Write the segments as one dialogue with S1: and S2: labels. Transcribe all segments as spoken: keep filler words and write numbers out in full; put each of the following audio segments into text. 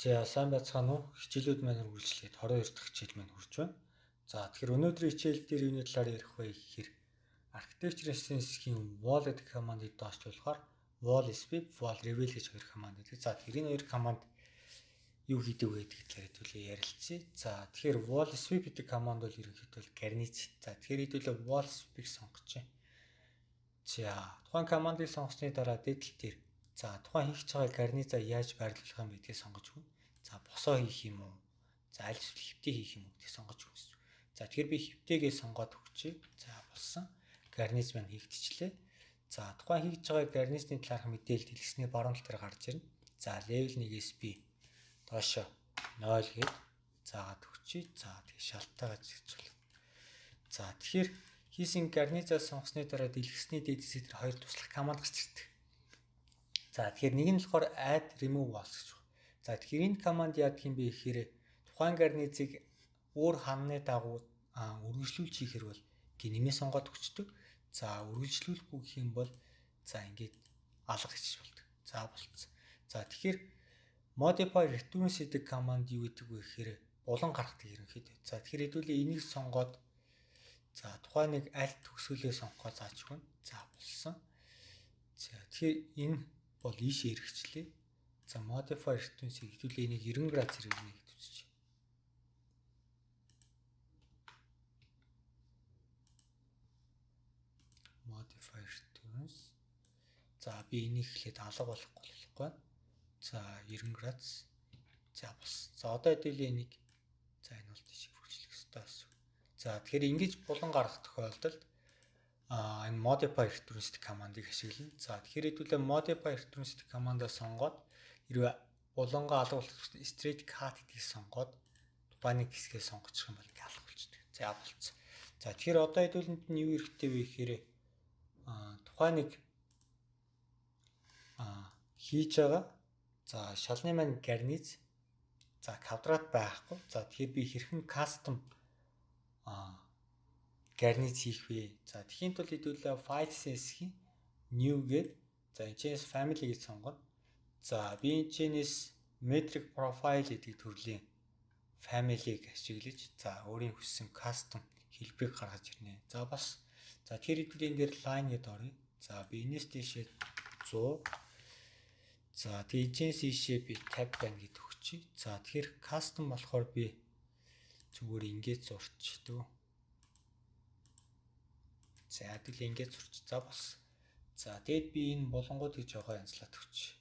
S1: За сайн байцгаана уу? Хичээлүүд маань үргэлжлээд двадцать хоёр дахь хичээл маань хүрч байна. За тэгэхээр өнөөдрийн хичээл дээр юуны талаар ярих вэ гэхээр architecture sense-ийн wall гэдэг командыг доошч болохоор wall sweep, wall reveal гэж хоёр команд байдаг. За тэрийн хоёр команд юу хийдэг вэ гэдэг талаар хэдүүлээ ярилцъя. За тэгэхээр wall sweep гэдэг команд бол ерөнхийдөө гарниц. За тэгэхээр хэдүүлээ wall sweep-ийг сонгож байна. За тухайн командыг сонгосны дараа дээдл дээр за тухайн хийх байгаа гарнизаа яаж байрлуулах юм бэ гэдгийг сонгож өгнө. За босоо хийх юм уу? За аль эсвэл хөвтэй хийх юм уу гэдгийг сонгож өгнө. За тэгэхээр би хөвтэйгээ сонгоод өгчээ. За болсон. Гарниз маань хийгдчихлээ. За тухайн хийж байгаа гарнизны талаарх мэдээлэл дэлгэсний баруун тал дээр гарч ирнэ. За level one-ээс би доошо ноль гээд заагаад өгчээ. За тэгээ шалтгаалгаа зэгцүүл. За тэгэхээр хийсэн гарнизаа сонгосны дараа дэлгэсний дээдсээ тэр хоёр туслах команд гарч ирдэг. За тэгэхээр нэг нь болохоор add remove walls гэж байна. За тэгэхээр энэ команд яадаг юм бэ гэхээр тухайн гарнизыг өөр ханны дагуу үргэлжлүүлж хийхэр бол гээ нэмээ сонгоод өгчдөг. За үргэлжлүүлэхгүй гэх юм бол за ингээд алга хийчих болдог. За болцсон. За тэгэхээр modify returns гэдэг команд юу гэдэг вэ гэхээр булан гаргадаг ерөнхийдөө. За тэгэхээр хэдүүлээ энийг сонгоод за тухайн нэг аль төгсгөлөө сонгохоо зааж өгнө. За болсон. За тэгэхээр энэ бол ийшээ хэрэгчлээ. За modify returns-ийг хэдүүлээ энийг ninety градус хэрэгнэ гэж үзчих. Modify returns. За би энийг эхлээд алга болохгүй болохгүй. За ninety градус. За бас. За одоо хэдүүлээ энийг за энэ бол тийш хөрвүүлэх хэрэгтэй байсан. За тэгэхээр ингэж булан гаргах тохиолдолд а энэ modify returns командыг ашиглана. За тэгэхээр хэдүүлээ modify returns командаа сонгоод хэрвээ булангаа алга болох straight cut гэдгийг сонгоод тухайн нэг хэсгээ сонгочих юм бол ингээ алга болчихдог. За болцсон. За тэгэхээр одоо хэдүүлэнд нь юу хэрэгтэй вэ гэхээр а тухайн нэг а хийж байгаа за шалны маань гарниз за квадрат байхгүй. За тэгэхээр би хэрхэн custom а гарниз хийх вэ? За тэхийн тулд хэдүүлээ file sense-ийн new гээд за энэчнээс family гэж сонгоно. За би энэчнээс metric profile гэдэг төрлийн family-г ашиглаж за өөрийн хүссэн custom хэлбэрийг гаргаж ирнэ. За бас за тэр хэдүүлээ энэ дээр line гэдээ оръё. За би энэс дэшээ one hundred за тэгжээс ийшээ би tab байна гэдэг өгчий. За тэгэхээр custom болохоор би зүгээр ингэж зурчдөө. За хэдүүлээ ингэж зурч. За бас. За тэгэд би энэ болонгуудыг жоо янзлаад өгч.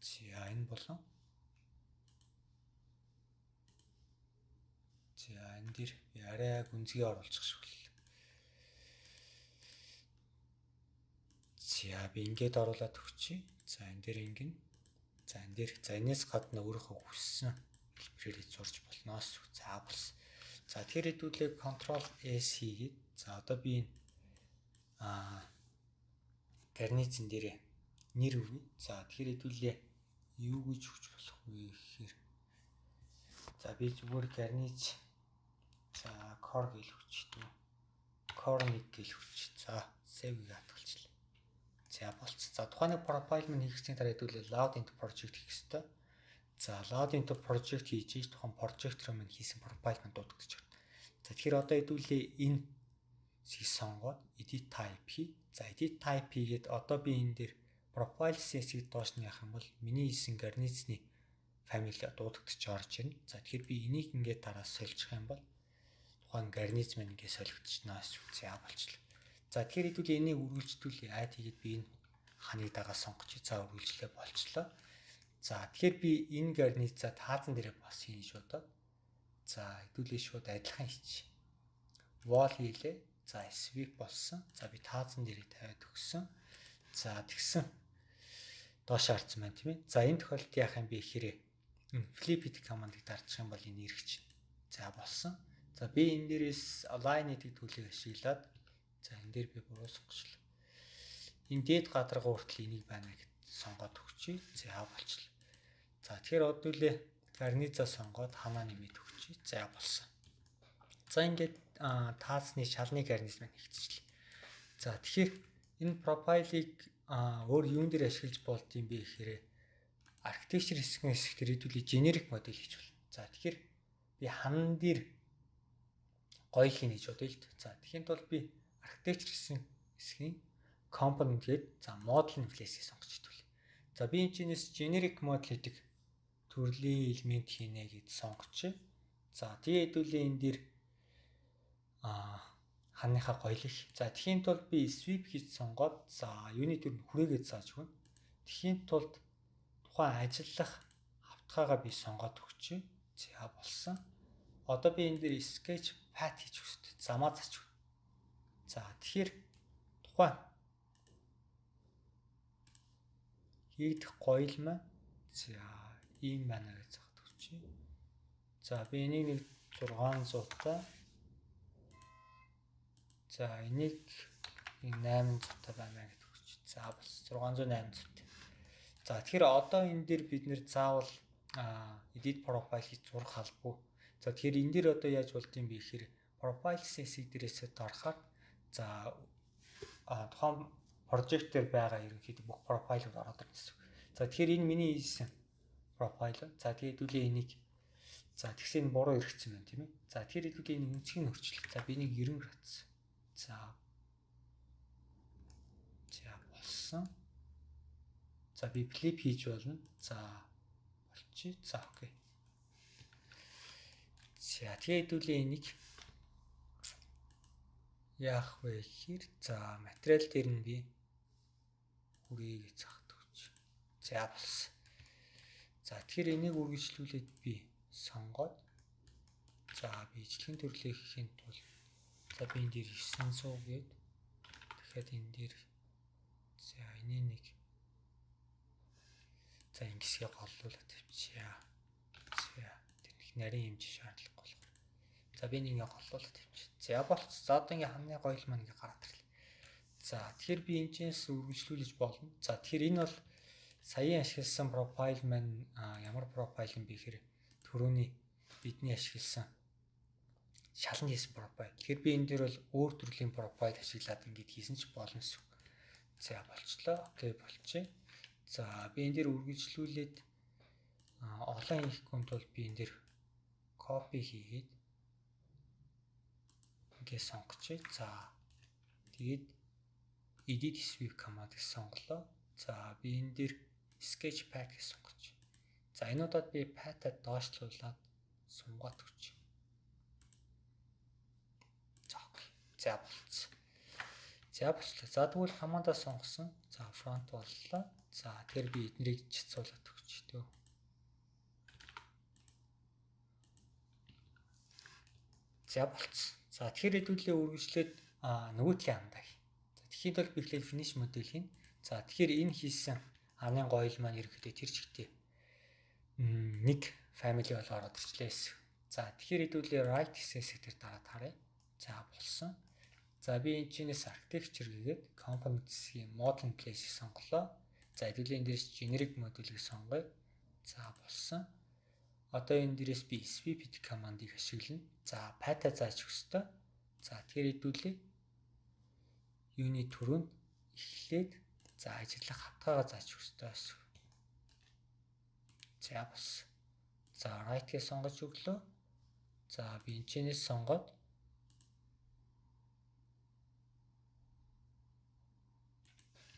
S1: За энэ болон. За энэ дэр би арай гүнзгий оруулчих шиг л. За би ингэж оруулаад өгчий. За энэ дэр ингэн. За энэ дэр за энэс гадна өөрийнхөө хүссэн хэлбэрээр зурж болноос. За бас. За тэр хэдүүлээ control S хийгээд за одоо би энэ аа гарницын дээр нэр өгье. За тэгэхээр хэдүүлээ юу гэж өгч болох вэ гэхээр за би зүгээр гарниц за core гэж өгчтэй. core нэг гэж өгч. За save-ийг хатгалчлаа. За болцсон. За тухайн profile маань хийгчийн дараа хэдүүлээ load into project хийх хэрэгтэй. За load into project хийж ийж тухайн project руу маань хийсэн profile маань дуудагдаж байна. За тэгэхээр одоо хэдүүлээ энэ сонгоод edit type хий. За edit type хийгээд одоо би энэ дээр profile sense-ийг доош нь яах юм бол миний хийсэн гарнизны family дуудагдаж орж ирнэ. За тэгэхээр би энийг ингээд дараа сольчих юм бол тухайн гарниз маань ингээд солигдчихнаа шүү. За болчихлоо. За тэгэхээр хэдүүлээ энийг үргэлжлүүлээ. Add хийгээд би энэ ханыг дагаа сонгочих. За үргэлжлээ болчихлоо. За тэгэхээр би энэ гарнизаа таазан дээрээ бас хийн шуудаа. За хэдүүлээ шууд адилхан хийчих. Wall хийлээ. За sweep болсон. За би таазан дээрээ тавиад өгсөн. За тэгсэн доош харцсан байна тийм ээ. За энэ тохиолдолд яах юм бэ гэхээр энэ flip гэдэг командыг дардчих юм бол энэ эргэж. За болсон. За би энэ дээрээс align гэдэг төлөвийг ашиглаад за энэ дээр би буруусгачлаа. Энэ дээд гадарга хүртэл энийг байна гэж сонгоод өгчий. За болчихлоо. За тэгэхээр одоолээ гарнизаа сонгоод ханаа нэмээд өгчий. За болсон. За ингээд таасны шалны гарниз маань хийгдчихлээ. За тэгэхээр энэ профайлыг өөр юун дээр ашиглаж болд юм бэ гэхээр architecture хэсгийн хэсэгт ирээдүйн generic модель хийж болно. За тэгэхээр би хаан дээр гоёлыг хийж бодъё л дээ. За тэгэхээр бол би architecture гэсэн хэсгийн component гээд за model place-ийг сонгож идвэл. За би энэ чинээс generic model гэдэг төрлийн элемент хийнэ гэж сонгоч. За тэгээд хэдүүлээ энэ дээр а ханыхаа гоёлыг. За тэхийн тулд би sweep хийж сонгоод за юуны төр хүрээгээд зааж өгнө. Тэхийн тулд тухайн ажиллах хавтгаагаа би сонгоод өгч. За болсон. Одоо би энэ дээр sketch path хийж өгсөд. Замаа зааж өгнө. За тэгэхээр тухайн хийгдэх гоёл маань за ийм байна гэж заахад өгч. За би энийг нэг зургаан зуут та. За энийг найман зуут та байна гэж өгч. За бас зургаан зуут найман зуут. За тэгэхээр одоо энэ дээр бид нэр заавал edit profile хийж зурх албагүй. За тэгэхээр энэ дээр одоо яаж болдгийг бэ гэхээр profiles хэсэг дээрээс дарахаар за тухайн project дээр байгаа ерөнхийдөө бүх профайлууд ороод ирнэ гэсэн. За тэгэхээр энэ миний хийсэн профайл. За тэгээд хэдүүлээ энийг за тэгсэн энэ буруу иргэсэн байна тийм ээ. За тэгэхээр хэдүүлээ энэ үнцгийг нь өөрчлөх. За би нэг девяносто градус. За. За болсон. За би flip хийж болно. За болчих. За окей. За тэгээд хэдүүлээ энийг яах вэ гэхээр за материал дээр нь би хүрээгээ заахад өгч. За болсон. За тэгэхээр энийг үргэлжлүүлээд би сонгоод за би ижлэгийн төрлөө хийхин тулд за би энэ дээр девять сую гээд дахиад энэ дээр за энийг нэг за ингэсгээ голлуулаад тавьчихъя. За тэр их нарийн хэмжээ шаардлагагүй болохоор. За би нэг ингээ голлуулаад тавьчих. За болц. За одоо ингээ хамны гоёл маань ингээ гараад ирлээ. За тэгэхээр би энэчнээс үргэлжлүүлж болно. За тэгэхээр энэ бол саяын ашигласан профайл маань ямар профайл юм бэ гэхээр түрүүний бидний ашигласан шалан хийсэн профайл. Тэгэхээр би энэ дээр бол өөр төрлийн профайл ашиглаад ингээд хийсэн ч болно шүү. За болчлоо. Окей болчих. За би энэ дээр үргэлжлүүлээд олон хийхгүй тул би энэ дээр копи хийгээд ингээд сонгочих. За тэгээд edit sweep command-ыг сонголоо. За би энэ дээр sketch path-ыг сонгоч. За энэ удаад би path-а доошлуулад сунгаад өгч. За окей. За болцсон. За болчлоо. За тэгвэл command-а сонгосон. За front боллоо. За тэгэхээр би эднэрийг жицуулаад өгч төө. За болцсон. За тэгэхээр хэдүүлээ үргэлжлээд нөгөө талын андаа. За тэгэхээр бол би ихлээр finish модель хийн. За тэгэхээр энэ хийсэн ханы гоёл маань ерөөхдөө тэр чигтээ нэг family бол ороод ирчлээ. За тэгэхээр хэдүүлээ right хэсэг дээр дараад харъя. За болсон. За би энэ чинээс architecture гээд components-ийн model place-ийг сонголоо. За хэдүүлээ энэ дээрс generic module-ийг сонгоё. За болсон. Одоо энэ дээрээс би sweep command-ыг ашиглана. За path-а зааж өгөх ёстой. За тэгэхээр хэдүүлээ юуны түрүүнд эхлээд за ажиллах хавтгаагаа зааж өгөх ёстой. За бас. За right-ийг сонгож өглөө. За би энэ чинээс сонгоод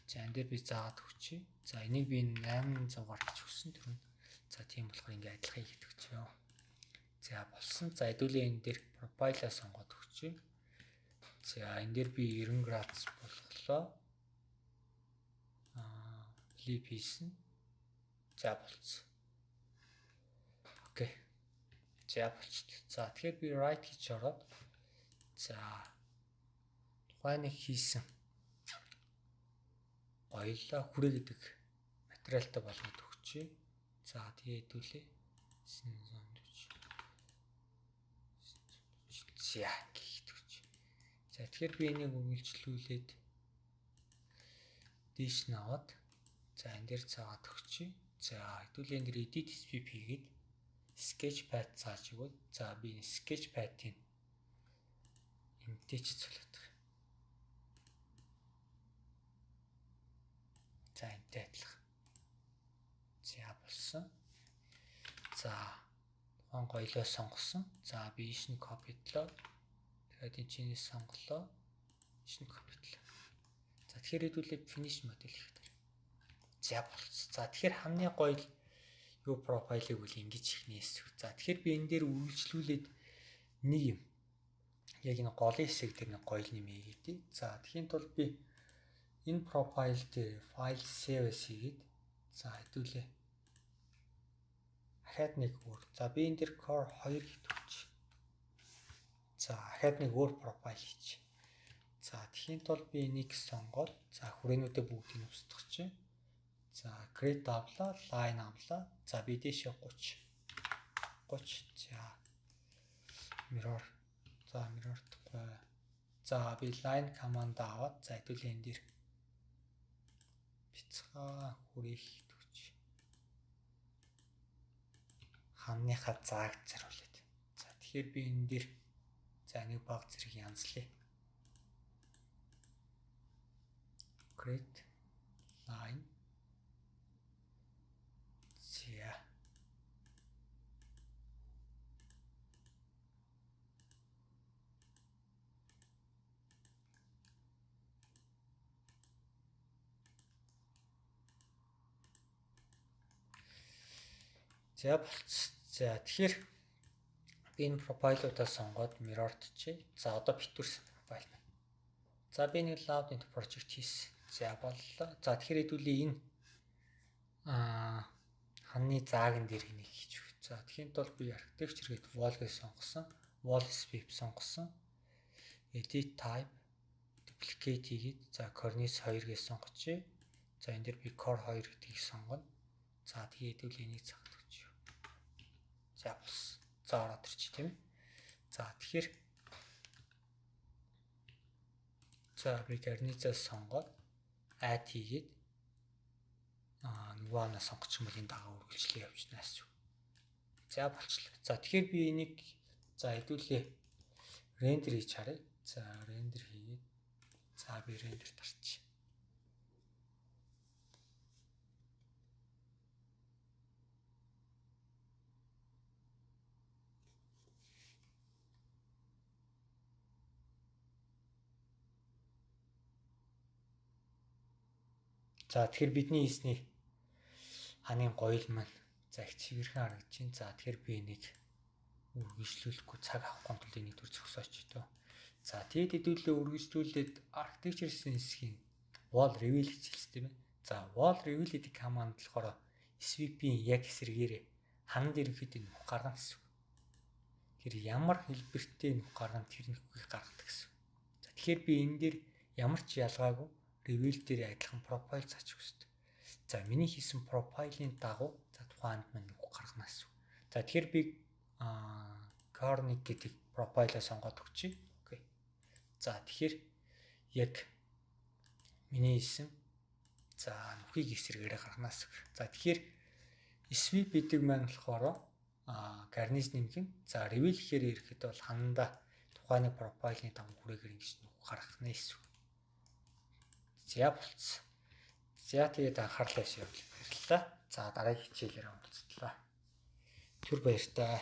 S1: за энэ дээр би заагаад өгчий. За энийг би восемь сую гаргаж өгсөн түрүүнд. За тийм болохоор ингээ адилхан хийх өгчөө. За болсон. За хэдүүлээ энэ дээр profile-а сонгоод өгчий. За энэ дээр би девяносто градус болголоо. Аа, flip хийсэн. За болцсон. Окей. За болчихлоо. За тэгэхээр би right хийж ороод за тухайн нэг хийсэн гоёлоо хүрээ гэдэг материалтай болгоод өгчээ. За тэгээ хэдүүлээ. За гихт өгч. За тэгэхээр би энийг үргэлжлүүлээд дээш нь аваад за энэ дээр цаагаад өгчий. За хэдүүлээ энэ дээр edit sweep хийгээд sketch path зааж өгöd. За би энэ sketch path-ийг энтэй ч цулаад байгаа. За энтэй адилхан. За бас. За тухайн гоёлоо сонгосон. За би ишн копидлоо. Тэгээд энэ чиний сонголоо. Ишн копидлоо. За тэгэхээр хэдүүлээ finish модель хийх дээр. За болц. За тэгэхээр хамгийн гоё юу профайлыг үл ингэж ихнээс. За тэгэхээр би энэ дээр үргэлжлүүлээд нэг юм. Яг энэ голын хэсэг дээр нэг гоё нэмээ хийдий. За тэгхийн тулд би энэ профайл дээр файл save хийгээд за хэдүүлээ. Ахаад нэг өөр. За би энэ дээр core хоёр хийдэгч. За ахаад нэг өөр профайл хийчих. За тэгхийн тулд би энийг сонгоод за хүрээнүүдэд бүгдийг устгах чинь. За create авлаа, line авлаа. За би дэшээ гуйч. гуйч. За mirror. За mirror-тэй. За би line command аваад за хэдүүлээ энэ дээр бяцхан хүрээх төгч. Хамныхаа зааг заруулаад. За тэгэхээр би энэ дээр за нэг баг зэрэг янзлаа. Create line. За За болц. За тэгэхээр би энэ профайлуудаа сонгоод mirrored чи. За одоо битүүрсэн профайл байна. За би нэг loud net project хийсэн. За боллоо. За тэгэхээр хэдүүлээ энэ аа ханны зааган дээр энийг хийж өгч. За тэгэхээр тул би architecture гээд wall гэж сонгосон. Wall sweep сонгосон. Edit type duplicate хийгээд за cornice хоёр гэж сонгочих. За энэ дээр би core хоёр гэдгийг сонгоно. За тэгээд хэдүүлээ энийг цагт За бас за ороод ирчих тийм ээ. За тэгэхээр за би карнизаа сонгоод add хийгээд аа нөгөө анаа сонгочих юм бол энэ дагаа үргэлжлээ явуулнаас. За болчихлоо. За тэгэхээр би энийг за хэдүүлээ рендер хийж харъя. За рендер хийгээд за би рендер тарчих. За тэгэхээр бидний хийсний ханы гоёл маань за их цэвэрхэн харагдаж байна. За тэгэхээр би энийг үргэлжлүүлэхгүй цаг авахгүй тул энийг төр зогсооч доо. За тэгээд хэдүүлээ үргэлжлүүлээд architecture хэсгийн wall reveal хийчихсэн тийм ээ. За wall reveal гэдэг command болохоор sweep-ийн яг эсрэгээрээ хан дээр ихэд нөх гаргана гэсэн. Тэр ямар хэлбэртэй нөх гаргана тэр нөхийг гаргадаг гэсэн. За тэгэхээр би энэ дээр ямар ч ялгаагүй reveal дээр адилхан профайл заачих үст. За миний хийсэн профайлын дагуу за тухайд маань нүг гаргана гэсэн. За тэгэхээр би Cornic гэдэг профайлаа сонгоод өгчий. Окей. За тэгэхээр яг миний хийсэн за нүхийг эсрэгээрээ гарганаас. За тэгэхээр sweep гэдэг маань болохоор а garnish нэмэх. За reveal гэхээр ирэхэд бол хананда тухайн профайлын дагуу хүрээгээр ингэж нүг гаргах нэ гэсэн. За болц. За тэгээд анхаарлаа явуулъя. Баярлалаа. За дараагийн хичээлээр уулзлаа. Түр баяртай.